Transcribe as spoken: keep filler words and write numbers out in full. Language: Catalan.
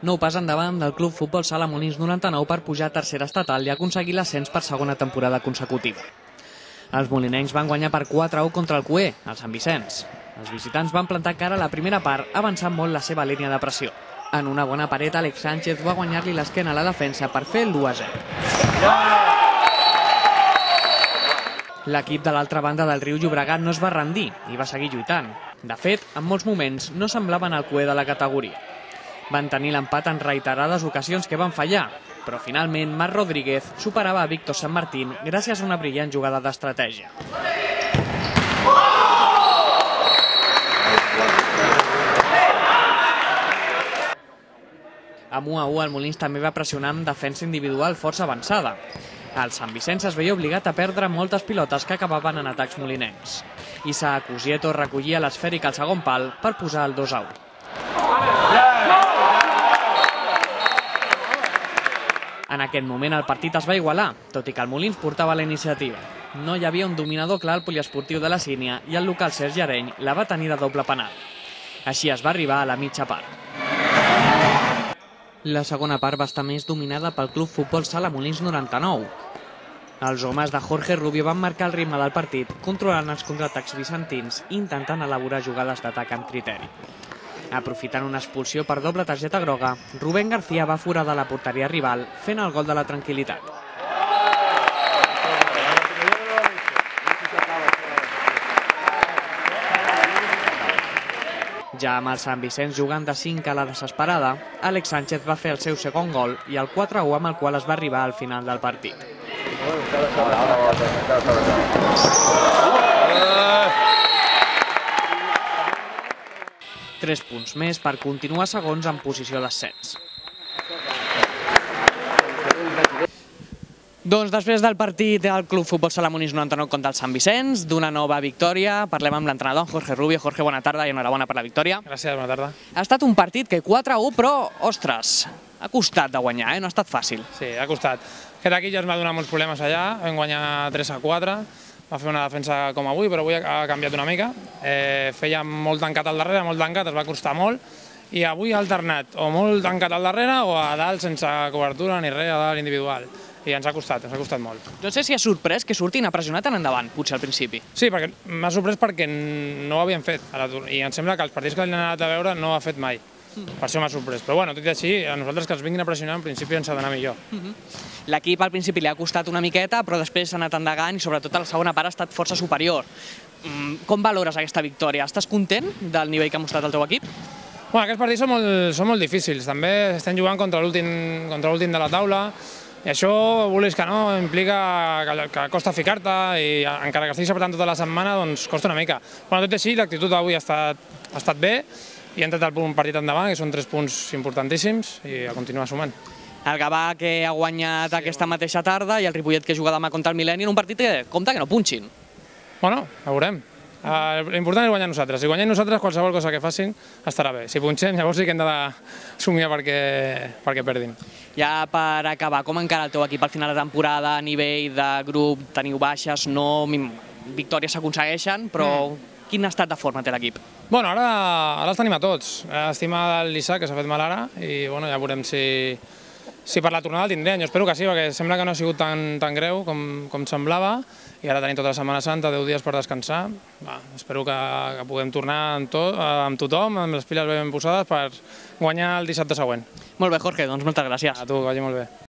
Nou pas endavant del Club Futbol Sala Molins noranta-nou per pujar a tercera estatal i aconseguir l'ascens per segona temporada consecutiva. Els molinencs van guanyar per quatre a u contra el Cué, el Sant Vicenç. Els visitants van plantar cara a la primera part, avançant molt la seva línia de pressió. En una bona paret, Àlex Sánchez va guanyar-li l'esquena a la defensa per fer el u a zero. L'equip de l'altra banda del riu Llobregat no es va rendir i va seguir lluitant. De fet, en molts moments no semblaven el Cué de la categoria. Van tenir l'empat en reiterades ocasions que van fallar, però finalment Marc Rodríguez superava a Víctor Sant Martín gràcies a una brillant jugada d'estratègia. Amb u a u el Molins també va pressionar amb defensa individual força avançada. El Sant Vicenç es veia obligat a perdre moltes pilotes que acabaven en atacs molinencs. Issa Cusieto recollia l'esfèric al segon pal per posar el dos a u. En aquest moment el partit es va igualar, tot i que el Molins portava la iniciativa. No hi havia un dominador clar al poliesportiu de la Sínia i el local Sergi Areny la va tenir de doble penal. Així es va arribar a la mitja part. La segona part va estar més dominada pel Club Futbol Sala Molins noranta-nou. Els homes de Jorge Rubio van marcar el ritme del partit, controlant els contraatacs vicentins i intentant elaborar jugades d'atac amb criteri. Aprofitant una expulsió per doble targeta groga, Rubén García va foradar la porteria rival, fent el gol de la tranquil·litat. Ja amb el Sant Vicenç jugant de cinc a la desesperada, Àlex Sánchez va fer el seu segon gol i el quatre a u amb el qual es va arribar al final del partit. Tres punts més per continuar segons en posició d'ascens. Doncs després del partit del Club Futbol Sala Molins noranta-nou contra el Sant Vicenç, d'una nova victòria, parlem amb l'entrenador Jorge Rubio. Jorge, bona tarda i enhorabona per la victòria. Gràcies, bona tarda. Ha estat un partit que quatre a u, però, ostres, ha costat de guanyar, eh? No ha estat fàcil. Sí, ha costat. Aquest equip ja ens va donar molts problemes allà, vam guanyar tres a quatre, va fer una defensa com avui, però avui ha canviat una mica. Eh, feia molt tancat al darrere, molt tancat, es va costar molt, i avui ha alternat o molt tancat al darrere o a dalt sense cobertura ni res, a dalt individual. I ens ha costat, ens ha costat molt. No sé si ha sorprès que surtin a pressionar tan endavant, potser al principi. Sí, perquè m'ha sorprès perquè no ho havien fet, i em sembla que els partits que l'han anat a veure no ho ha fet mai. Per això m'ha sorprès. Però bueno, tot i així, a nosaltres que ens vinguin a pressionar, en principi ens ha d'anar millor. L'equip al principi li ha costat una miqueta, però després s'ha anat endegant i sobretot a la segona part ha estat força superior. Com valores aquesta victòria? Estàs content del nivell que ha mostrat el teu equip? Bueno, aquests partits són molt, són molt difícils. També estem jugant contra l'últim contra l'últim de la taula, i això, vulguis que no, implica que, que costa ficar-te i encara que estiguis apretant tota la setmana, doncs costa una mica. Bueno, tot i així, l'actitud d'avui ha estat, ha estat bé i ha entrat el partit endavant, que són tres punts importantíssims, i a continuar sumant. El Gavà, que ha guanyat sí, aquesta mateixa tarda, i el Ripollet, que juga demà contra el Mil·lenni, en un partit que compta que no punxin. Bueno, ho veurem. L'important és guanyar nosaltres. Si guanyem nosaltres, qualsevol cosa que facin estarà bé. Si punxem, llavors sí que hem de somiar perquè, perquè perdin. Ja per acabar, com encara el teu equip al final de temporada, a nivell de grup, teniu baixes, no victòries s'aconsegueixen, però mm. quin estat de forma té l'equip? Bueno, ara, ara els tenim a tots. Estima l'Isaac, que s'ha fet mal ara, i bueno, ja veurem si, si per la tornada el tindrem. Jo espero que sí, perquè sembla que no ha sigut tan, tan greu com, com semblava, i ara tenim tota la Setmana Santa, deu dies per descansar. Va, espero que, que puguem tornar amb, tot, amb tothom, amb les piles ben posades, per guanyar el dissabte següent. Molt bé, Jorge, doncs moltes gràcies. A tu, que vagi molt bé.